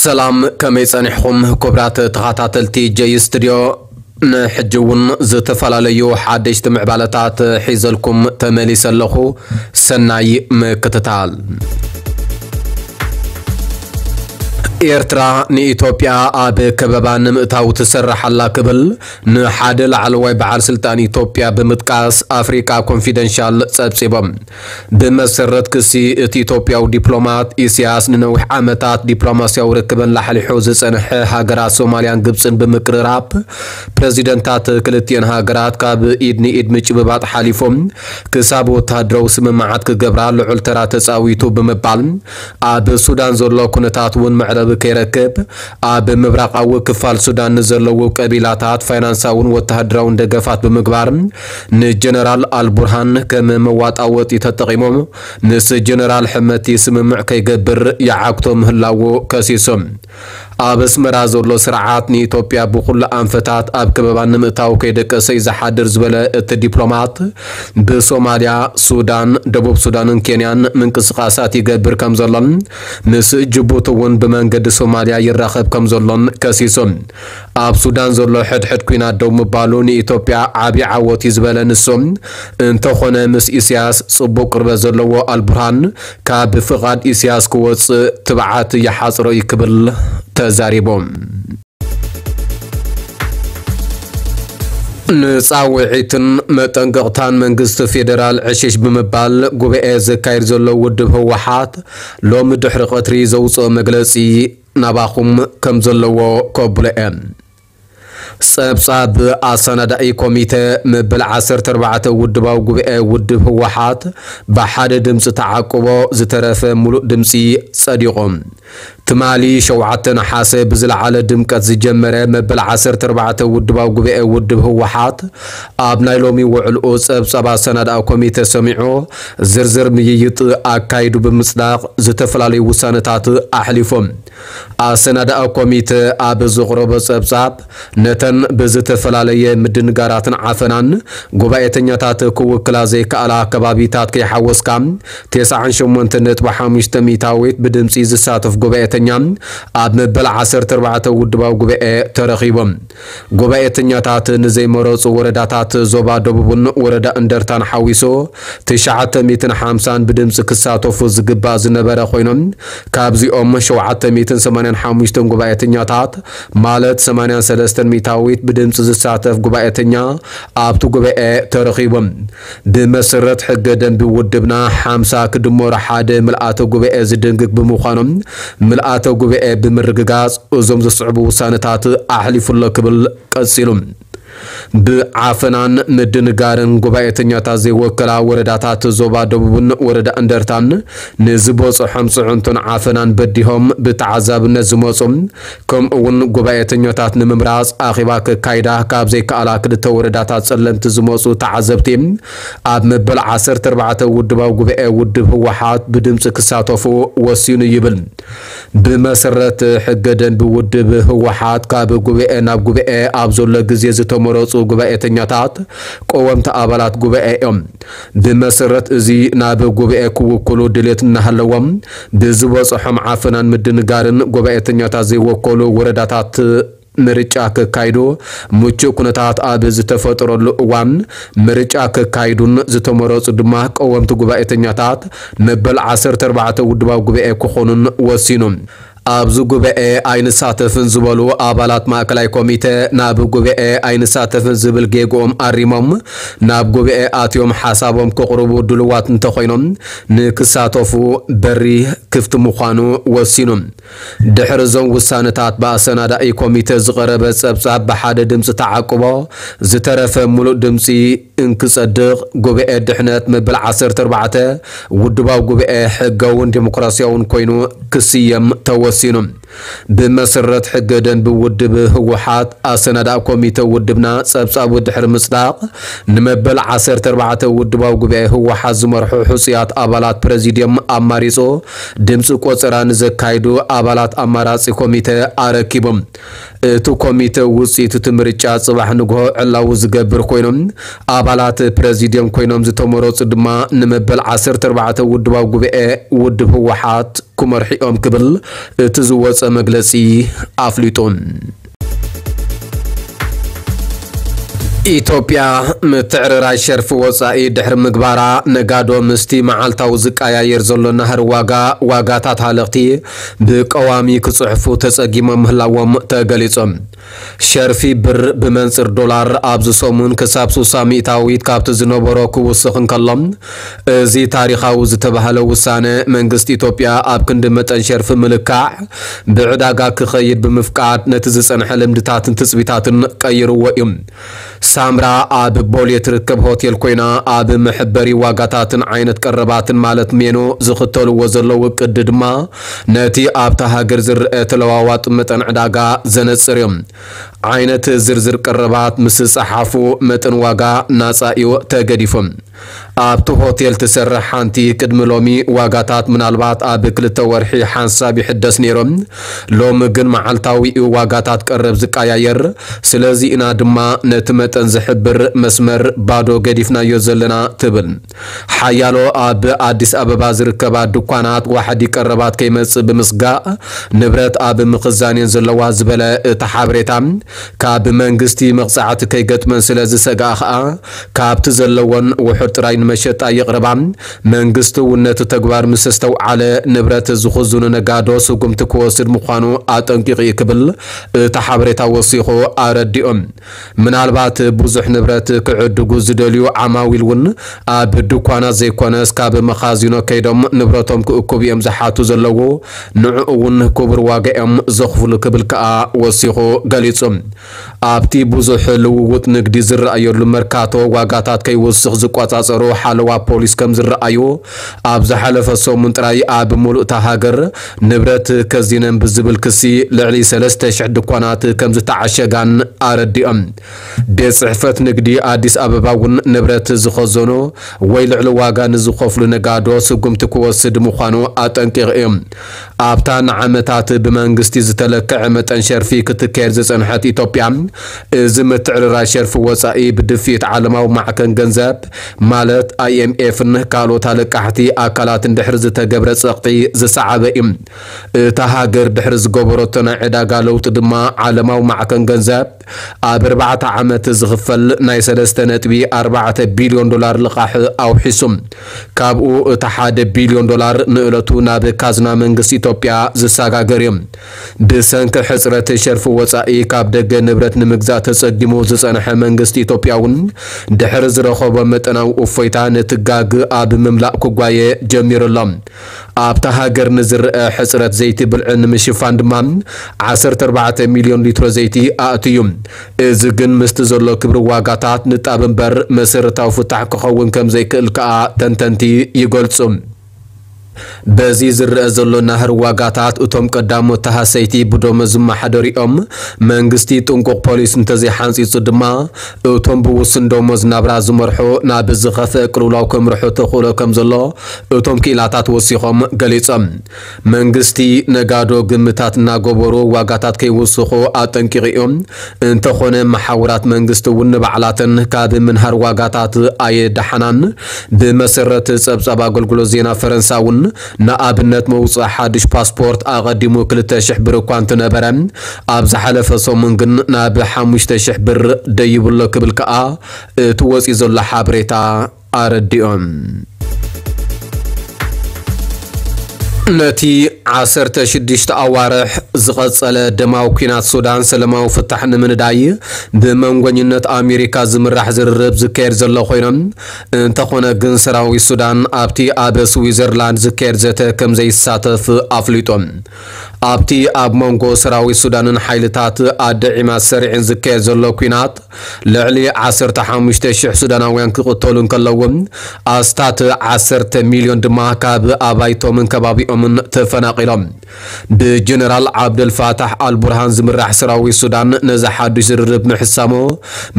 ሰላም፣ ከመይ ጸኒሕኹም ክቡራት ተኸታተልቲ ጀይ ስቱድዮ? ንሕጂ እውን ዝተፈላለዩ ሓደሽቲ ምዕባለታት ሒዘልኩም ተመሊሰ ኣለኹ። ሰናይ ምክትታል። ኤርትራ ንኢትዮጵያ ኣብ ከበባ ንምእታው ትሰርሕ ኣላ ክብል ንሓደ ላዕለዋይ በዓል ስልጣን ኢትዮጵያ ብምጥቃስ ኣፍሪቃ ኮንፊደንሻል ጸብጺቦም። ብመሰረት ክሲ እቲ ኢትዮጵያዊ ዲፕሎማት፣ ኢሳያስ ንነዊሕ ዓመታት ዲፕሎማስያዊ ርክበን ላሕሊሑ ዝጸንሐ ሃገራት ሶማልያን ግብጽን ብምቅርራብ፣ ፕረዚደንታት ክልቲኤን ሃገራት ካብ ኢድ ንኢድ ምጭብባጥ ሓሊፎም ክሳብ ወተሃደራዊ ስምምዓት ክገብራ ልዑል ተራ ተጻዊቱ ብምባል፣ ኣብ ሱዳን ዘሎ ኩነታት እውን መዕለቢ ከይረክብ፣ ኣብ ምብራቓዊ ክፋል ሱዳን ንዘለዉ ቀቢላታት ፋይናንሳውን ወተሃደራውን ደገፋት ብምግባር፣ ንጀነራል ኣልቡርሃን ከም መዋጣወጢ ተጠቒሞም፣ ምስ ጀነራል ሕመቲ ስምምዕ ከይገብር ይዓግቶ ምህላዉ ከሲሶም። ኣብ ኣስመራ ዘሎ ስርዓት ንኢትዮጵያ ብኹሉ ኣንፈታት ኣብ ከበባ ንምእታው ከይደቀሰ እዩ ዝሓድር ዝበለ እቲ ዲፕሎማት፣ ብሶማልያ፣ ሱዳን፣ ደቡብ ሱዳንን ኬንያን ምንቅስቓሳት ይገብር ከም ዘሎን ምስ ጅቡቲ እውን ብመንገዲ ሶማልያ ይራኸብ ከም ዘሎን ከሲሶም። ኣብ ሱዳን ዘሎ ሕድሕድ ኲናት ደው ምባሉ ንኢትዮጵያ ዓቢ ዓወት እዩ ዝበለ ንሱ፣ እንተኾነ ምስ ኢሳያስ ጽቡቕ ቅርበት ዘለዎ ኣልቡርሃን ካብ ፍቓድ ኢሳያስ ክወጽእ ትብዓት ይሓጽሮ እዩ ክብል ተዛሪቦም። ንጻውዒትን መጠንቀቕታን መንግስቲ ፌደራል ዕሽሽ ብምባል ጉባኤ ዘካይድ ዘሎ ውድብ ህወሓት ሎሚ ድሕሪ ቀትሪ ዘውፅኦ መግለጺ ናባኹም ከም ዘለዎ ከብሎ እየ። ጸብጻብ ኣሰናዳኢ ኮሚተ መበል ዓሰርተ ኣርባዕተ ውድባዊ ጉባኤ ውድብ ህወሓት ብሓደ ድምፂ ተዓቅቦ ዝተረፈ ሙሉእ ድምፂ ጸዲቑ። ትማሊ ሸውዓተ ነሓሰ ብዝለዓለ ድምቀት ዝጀመረ መበል ዓሰርተ ኣርባዕተ ውድባዊ ጉባኤ ውድብ ህወሓት ኣብ ናይ ሎሚ ውዕልኡ ጸብጻብ ኣሰናዳኢ ኮሚተ ሰሚዑ ዝርዝር ምይይጥ ኣካይዱ ብምጽዳቕ ዝተፈላለዩ ውሳነታት ኣሕሊፎም። ኣሰናዳኢ ኮሚተ ኣብ ዘቕረቦ ጸብጻብ ነተን ብዝተፈላለየ ምድንጋራትን ዓፈናን ጉባኤተኛታት ክውክላ ዘይከኣላ ከባቢታት ከይሓወስካ፣ ተስዓን ሸሞንተን ነጥቢ ሓሙሽተ ሚእታዊት ብድምጺ ዝሳተፍ ጉባኤተኛ ኣብ መበል ዓሰርተ ኣርባዕተ ውድባዊ ጉባኤ ተረኺቦም። ጉባኤተኛታት ንዘይመረጹ ወረዳታት ዞባ ደቡብን ወረዳ እንደርታን ሓዊሱ ትሽዓተ ሚእትን ሓምሳን ብድምጺ ክሳተፉ ዝግባእ ዝነበረ ኮይኖም፣ ካብዚኦም ሸውዓተ ሚእትን ሰማንያን ሓሙሽተን ጉባኤተኛታት ማለት ሰማንያን ሰለስተን ሚእታዊት ብድምጺ ዝሳተፍ ጉባኤተኛ ኣብቲ ጉባኤ ተረኺቦም። ብመሰረት ሕገ ደንቢ ውድብና ሓምሳ ክድመሩ ሓደ ምልኣተ ጉባኤ ዝድንግግ ብምዃኖም ምልኣተ ጉባኤ ብምርግጋጽ እዞም ዝስዕቡ ውሳነታት ኣሕሊፉ ኣሎ ክብል ቀጺሉ። ብዓፈናን ምድንጋርን ጉባኤተኛታት ዘይወከላ ወረዳታት ዞባ ደቡብን ወረዳ እንደርታን ንዝበፅሖም ፅዕንቶን ዓፈናን በዲሆም ብተዓዛብነት ዝመፁ ከምኡ እውን ጉባኤተኛታት ንምምራፅ ኣኼባ ከካይዳ ካብ ዘይከኣላ ክልተ ወረዳታት ፀለምቲ ዝመፁ ተዓዘብቲ ኣብ መበል ዓሰርተ ኣርባዕተ ውድባዊ ጉባኤ ውድብ ህወሓት ብድምፂ ክሳተፉ ወሲኑ ይብል። ብመሰረት ሕገ ደንቢ ውድብ ህወሓት ካብ ጉባኤ ናብ ጉባኤ ኣብ ዘሎ ግዜ ዝተመረፁ ጉባኤተኛታት ቀወምቲ ኣባላት ጉባኤ እዮም። ብመሰረት እዚ ናብ ጉባኤ ክውክሉ ድሌት እናሃለዎም ብዝበፅሖም ዓፈናን ምድንጋርን ጉባኤተኛታት ዘይወከሉ ወረዳታት ምርጫ ከካይዱ ምቹእ ኩነታት ኣብ ዝተፈጠረሉ እዋን ምርጫ ከካይዱን ዝተመረፁ ድማ ቀወምቲ ጉባኤተኛታት መበል ዓሰርተ ኣርባዕተ ውድባዊ ጉባኤ ክኾኑን ወሲኑ። ኣብዚ ጉባኤ ኣይንሳተፍን ዝበሉ ኣባላት ማእከላይ ኮሚተ ናብ ጉባኤ ኣይንሳተፍን ዝብል ጌግኦም ኣሪሞም ናብ ጉባኤ ኣትዮም ሓሳቦም ከቕርቡ ድልዋት እንተኾይኖም ንክሳተፉ በሪ ክፍቲ ምዃኑ ወሲኑ። ድሕሪ እዞም ውሳነታት ብኣሰናዳኢ ኮሚተ ዝቐረበ ጸብጻብ ብሓደ ድምጺ ተዓቅቦ ዝተረፈ ምሉእ ድምጺ እንክጸድቕ ጉባኤ ድሕነት መበል ዓሰርተ ኣርባዕተ ውድባዊ ጉባኤ ሕጋውን ዴሞክራሲያውን ኮይኑ ክስየም ተወሲኑ። ብመሰረት ሕገ ደንቢ ውድብ ህወሓት ኣሰናዳኢ ኮሚተ ውድብና ጸብጻቡ ድሕሪ ምጽዳቕ ንመበል ዓሰርተ ኣርባዕተ ውድባዊ ጉባኤ ህወሓት ዝመርሑ ሕጹያት ኣባላት ፕረዚድየም ኣማሪጹ ድምፂ ቆጸራ ንዘካይዱ ኣባላት ኣማራጺ ኮሚተ ኣረኪቡ። እቲ ኮሚተ ውፅኢት እቲ ምርጫ ፅባሕ ንግሆ ዕላዊ ዝገብር ኮይኖም፣ ኣባላት ፕረዚድየም ኮይኖም ዝተመረፁ ድማ ንመበል ዓሰርተ ኣርባዕተ ውድባዊ ጉባኤ ውድብ ህወሓት ክመርሑ እዮም ክብል እቲ ዝወፀ መግለፂ ኣፍሊጡ። ኢትዮጵያ ምትዕርራይ ሸርፊ ወጻኢ ድሕሪ ምግባራ፣ ነጋዶ ምስቲ መዓልታዊ ዝቀያየር ዘሎ ናህሪ ዋጋ፣ ዋጋታት ሃለኽቲ ብቀዋሚ ክጽሕፉ ተጸጊሞም ምህላዎም ተገሊጹ። ሸርፊ ብር ብመንጽር ዶላር ኣብዚ ሰሙን ክሳብ ስሳ ሚእታዊት ካብቲ ዝነበሮ ክውስኽ እንከሎ፣ እዚ ታሪኻዊ ዝተባህለ ውሳነ መንግስቲ ኢትዮጵያ ኣብ ክንዲ መጠን ሸርፊ ምልካዕ ብዕዳጋ ክኸይድ ብምፍቃድ ነቲ ዝጸንሐ ልምድታትን ትጽቢታትን ቀይርዎ እዩ። ሳምራ ኣብ ቦሌ ትርከብ ሆቴል ኮይና፣ ኣብ መሐበሪ ዋጋታትን ዓይነት ቀረባትን ማለት ሜኖ ዝኽተልዎ ዘለዉ ቅዲ ድማ ነቲ ኣብታ ሃገር ዝረአ ተለዋዋጢ መጠን ዕዳጋ ዘነጽር እዩ። ዓይነት ዝርዝር ቀረባት ምስ ጸሓፉ መጠን ዋጋ ናጻ እዩ ተገዲፉ። ኣብቲ ሆቴል ትሰርሕ ሓንቲ ቅድሚ ሎሚ ዋጋታት ምናልባት ኣብ ክልተ ወርሒ ሓንሳብ ይሕደስ ነይሩ። ሎሚ ግን መዓልታዊ እዩ ዋጋታት ቀረብ ዝቀያየር። ስለዚ ኢና ድማ ነቲ መጠን ዝሕብር መስመር ባዶ ገዲፍናዮ ዘለና ትብል። ሓያሎ ኣብ ኣዲስ ኣበባ ዝርከባ ድኳናት ዋሕዲ ቀረባት ከይመጽእ ብምስጋእ ንብረት ኣብ ምኽዛን እየን ዘለዋ ዝበለ እቲ ሓበሬታ፣ ካብ መንግስቲ መቕጻዕቲ ከይገጥመን ስለ ዝሰግኣ ከኣ ካብቲ ዘለወን ውሑድ ጥራይ ንመሸጣ የቕርባ። መንግስቲ እውን ነቲ ተግባር ምስ ኣስተውዓለ ንብረት ዝኽዝኑ ነጋዶ ስጉምቲ ክወስድ ምዃኑ ኣጠንቂቑ እዩ ክብል እቲ ሓበሬታ ወሲኹ ኣረዲኡ። ምናልባት ብዙሕ ንብረት ክዕድጉ ዝደልዩ ዓማዊል እውን ኣብ ድኳናት ዘይኮነስ ካብ መኻዚኖ ከይዶም ንብረቶም ክእክቡ እዮም ዝሓቱ ዘለዉ። ንዕኡ እውን ክቡር ዋጋ እዮም ዘኽፍሉ ክብል ከኣ ወሲኹ ገሊጹ። ኣብቲ ብዙሕ ልውውጥ ንግዲ ዝረኣየሉ መርካቶ ዋጋታት ከይውስኽ ዝቆጻጸሩ ሓለዋ ፖሊስ ከም ዝረኣዩ፣ ኣብ ዝሓለፈ ሰሙን ጥራይ ኣብ ሙሉእ እታ ሃገር ንብረት ከዚነን ብዝብል ክሲ ልዕሊ ሰለስተ ሽሕ ድኳናት ከም ዝተዓሸጋን ኣረዲኦም። ቤት ጽሕፈት ንግዲ ኣዲስ ኣበባ እውን ንብረት ዝኸዘኑ ወይ ልዕሊ ዋጋ ንዝኸፍሉ ነጋዶ ስጉምቲ ክወስድ ምዃኑ ኣጠንቂቑ እዩ። ኣብታ ንዓመታት ብመንግስቲ ዝተለክዐ መጠን ሸርፊ ክትካየድ ዝጸንሐት ኢትዮጵያ፣ እዚ ምትዕርራይ ሸርፊ ወጻኢ ብድፍኢት ዓለማዊ ማዕከን ገንዘብ ማለት ኣይኤምኤፍን ካልኦት ኣለቃሕቲ ኣካላትን ድሕሪ ዝተገብረ ጸቕጢ ዝሰዓበ እዩ። እታ ሃገር ድሕሪ ዝገበረቶ ናይ ዕዳጋ ለውጢ ድማ ዓለማዊ ማዕከን ገንዘብ ኣብ ኣርባዕተ ዓመት ዝኽፈል ናይ ሰለስተ ነጥቢ ኣርባዕተ ቢልዮን ዶላር ልቓሕ ኣውሒሱ። ካብኡ እቲ ሓደ ቢልዮን ዶላር ንእለቱ ናብ ካዝና መንግስቲ ኢትዮጵያ ዝሰጋገር እዩ። ብሰንኪ ሕጽረት ሸርፊ ወጻኢ ካብ ደገ ንብረት ንምግዛእ ተጸጊሙ ዝጸንሐ መንግስቲ ኢትዮጵያ እውን ድሕሪ ዝረኸቦ መጠናዊ እፎይታ ነቲ ጋግ ኣብ ምምላእ ክጓየ ጀሚሩ ኣሎ። ኣብታ ሃገር ንዝረአ ሕጽረት ዘይቲ ብልዒ ንምሽፋን ድማ ዓሰርተ ኣርባዕተ ሚልዮን ሊትሮ ዘይቲ ኣእትዩ። እዚ ግን ምስቲ ዘሎ ክብሪ ዋጋታት ንጣብ እምበር መሰረታዊ ፍታሕ ክኸውን ከም ዘይክእል ከኣ ተንተንቲ ይገልጹ። በዚ ዝረአ ዘሎ ናህሪ ዋጋታት እቶም ቀዳሞት ተሃሰይቲ ብደሞዝ ዝመሓደሩ እዮም። መንግስቲ ጥንቁቕ ፖሊሲ እንተዘይሓንጺጹ ድማ እቶም ብውሱን ደሞዝ ናብራ ዝመርሑ ናብ ዝኸፍአ ቅልውላው ከምርሑ ተኽእሎ ከም ዘሎ እቶም ክኢላታት ወሲኾም ገሊጾም። መንግስቲ ነጋዶ ግምታት እናገበሩ ዋጋታት ከይውስኹ ኣጠንቂቑ እዩ። እንተኾነ መሓውራት መንግስቲ እውን ንባዕላተን ካብ ምንሃር ዋጋታት ኣየደሓናን። ብመሰረት ጸብጻብ ኣገልግሎት ዜና ፈረንሳ እውን ንኣብነት መውጽኢ ሓድሽ ፓስፖርት ኣቐዲሙ ክልተ ሽሕ ብር እኳ እንትነበረ ኣብ ዝሓለፈ ሰሙን ግን ናብ ሓሙሽተ ሽሕ ብር ደይብሎ ክብል ከኣ እቲ ወጺኡ ዘሎ ሓበሬታ ኣረዲኦም። ነቲ ዓሰርተ ሽዱሽተ ኣዋርሕ ዝቐጸለ ደማዊ ኲናት ሱዳን ሰላማዊ ፍታሕ ንምንዳይ ብመንጎኝነት ኣሜሪካ ዝምራሕ ዝርርብ ዝካየድ ዘሎ ኮይኖም፣ እንተኾነ ግን ሰራዊት ሱዳን ኣብቲ ኣብ ስዊዘርላንድ ዝካየድ ዘተ ከም ዘይሳተፍ ኣፍሊጦም። ኣብቲ ኣብ መንጎ ሰራዊት ሱዳንን ሓይልታት ኣደ ዒማድ ሰሪዕን ዝካየድ ዘሎ ኲናት ልዕሊ ዓሰርተ ሓሙሽተ ሽሕ ሱዳናውያን ክቕተሉ እንከለዉ፣ ኣስታት ዓሰርተ ሚልዮን ድማ ካብ ኣባይቶምን ከባቢኦምን ተፈናቒሎም። ብጀነራል ዓብደልፋታሕ ኣልቡርሃን ዝምራሕ ሰራዊት ሱዳን ነዚ ሓዱሽ ዝርርብ ምሕሳሞ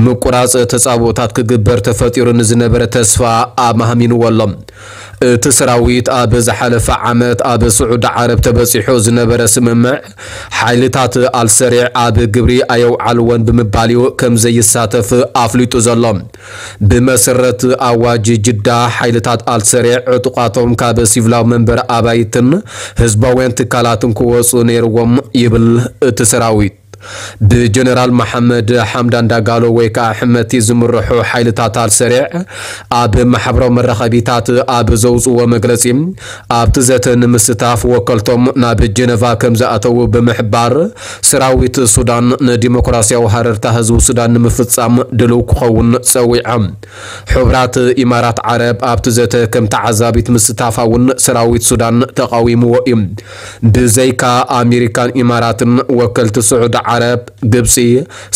ምቁራጽ ተጻብኦታት ክግበር ተፈጢሩ ንዝነበረ ተስፋ ኣማህሚንዎ ኣሎ። እቲ ሰራዊት ኣብ ዝሓለፈ ዓመት ኣብ ስዑዲ ዓረብ ተበጺሑ ዝነበረ ስምምዕ ሓይልታት ኣልሰሪዕ ኣብ ግብሪ ኣየውዓልዎን ብምባል እዩ ከም ዘይሳተፍ ኣፍሊጡ ዘሎ። ብመሰረት ኣዋጅ ጅዳ፣ ሓይልታት ኣልሰሪዕ ዕጡቓቶም ካብ ሲቪላዊ መንበሪ ኣባይትን ህዝባውያን ትካላትን ክወጹ ነይርዎም ይብል እቲ ሰራዊት። ብጀነራል መሓመድ ሓምዳን ዳጋሎ ወይ ከዓ ሕመቲ ዝምርሑ ሓይልታት ኣልሰሪዕ ኣብ ማሕበራዊ መራኸቢታት ኣብ ዘውፅዎ መግለፂ፣ ኣብቲ ዘተ ንምስታፍ ወከልቶም ናብ ጀነቫ ከም ዝኣተዉ ብምሕባር፣ ሰራዊት ሱዳን ንዲሞክራሲያዊ ሃረርታ ህዝቢ ሱዳን ንምፍጻም ድልው ክኸውን ጸዊዖም። ሕቡራት ኢማራት ዓረብ ኣብቲ ዘተ ከም ተዓዛቢት ምስታፋ እውን ሰራዊት ሱዳን ተቓዊምዎ እዩ። ብዘይካ ኣሜሪካን ኢማራትን፣ ወከልቲ ስዑዲ ዓረብ፣ ግብጺ፣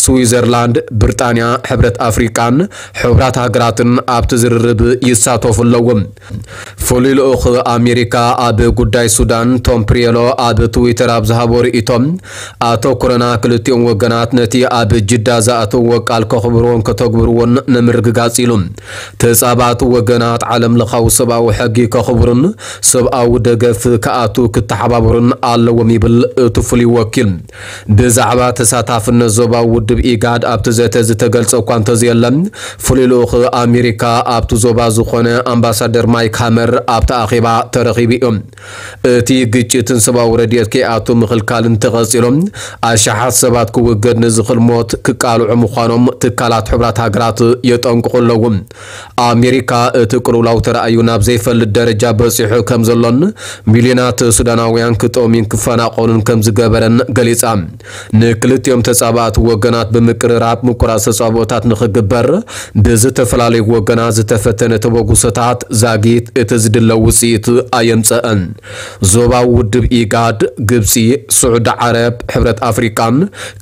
ስዊዘርላንድ፣ ብሪጣንያ፣ ሕብረት ኣፍሪቃን ሕቡራት ሃገራትን ኣብቲ ዝርርብ ይሳተፉ ኣለዉ። ፍሉይ ልኡኽ ኣሜሪካ ኣብ ጉዳይ ሱዳን ቶም ፕሪየሎ ኣብ ትዊተር ኣብ ዝሃቦ ርእይቶ፣ ኣተኩሮና ክልቲኦም ወገናት ነቲ ኣብ ጅዳ ዝኣተውዎ ቃል ከኽብርዎን ከተግብርዎን ንምርግጋጽ ኢሉ። ተጻባእቲ ወገናት ዓለም ለኻዊ ሰብኣዊ ሕጊ ከኽብሩን ሰብኣዊ ደገፍ ክኣቱ ክተሓባበሩን ኣለዎም ይብል እቲ ፍሉይ ወኪል። ብዛዕባ ተሳታፍነት ዞባዊ ውድብ ኢጋድ ኣብቲ ዘተ ዝተገልጸ እኳ እንተዘየለ፣ ፍሉይ ልኡኽ ኣሜሪካ ኣብቲ ዞባ ዝኾነ ኣምባሳደር ማይክ ሃመር ኣብቲ ኣኼባ ተረኺቡ እዩ። እቲ ግጭትን ሰብኣዊ ረድኤት ከይኣቱ ምኽልካልን ተቐጺሎም፣ ኣሽሓት ሰባት ክውገድ ንዝኽእል ሞት ክቃልዑ ምዃኖም ትካላት ሕቡራት ሃገራት የጠንቅቑ ኣለዉ። ኣሜሪካ እቲ ቅልውላው ተራእዩ ናብ ዘይፈልጥ ደረጃ በጺሑ ከም ዘሎን፣ ሚልዮናት ሱዳናውያን ክጠምዩን ክፈናቐሉን ከም ዝገበረን ገሊጻ። ንክልቲኦም ተጻባእቲ ወገናት ብምቅርራብ ምቁራጽ ተጻብኦታት ንኽግበር ብዝተፈላለዩ ወገናት ዝተፈተነ ተበግሶታት ዛጊት እቲ ዝድለ ውጽኢት ኣየምጸአን። ዞባዊ ውድብ ኢጋድ፣ ግብጺ፣ ስዑዲ ዓረብ፣ ሕብረት ኣፍሪቃን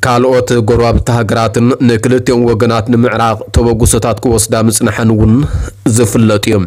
ካልኦት ጎረባብቲ ሃገራትን ንክልቲኦም ወገናት ንምዕራቕ ተበግሶታት ክወስዳ ምጽንሐን እውን ዝፍለጥ እዩ።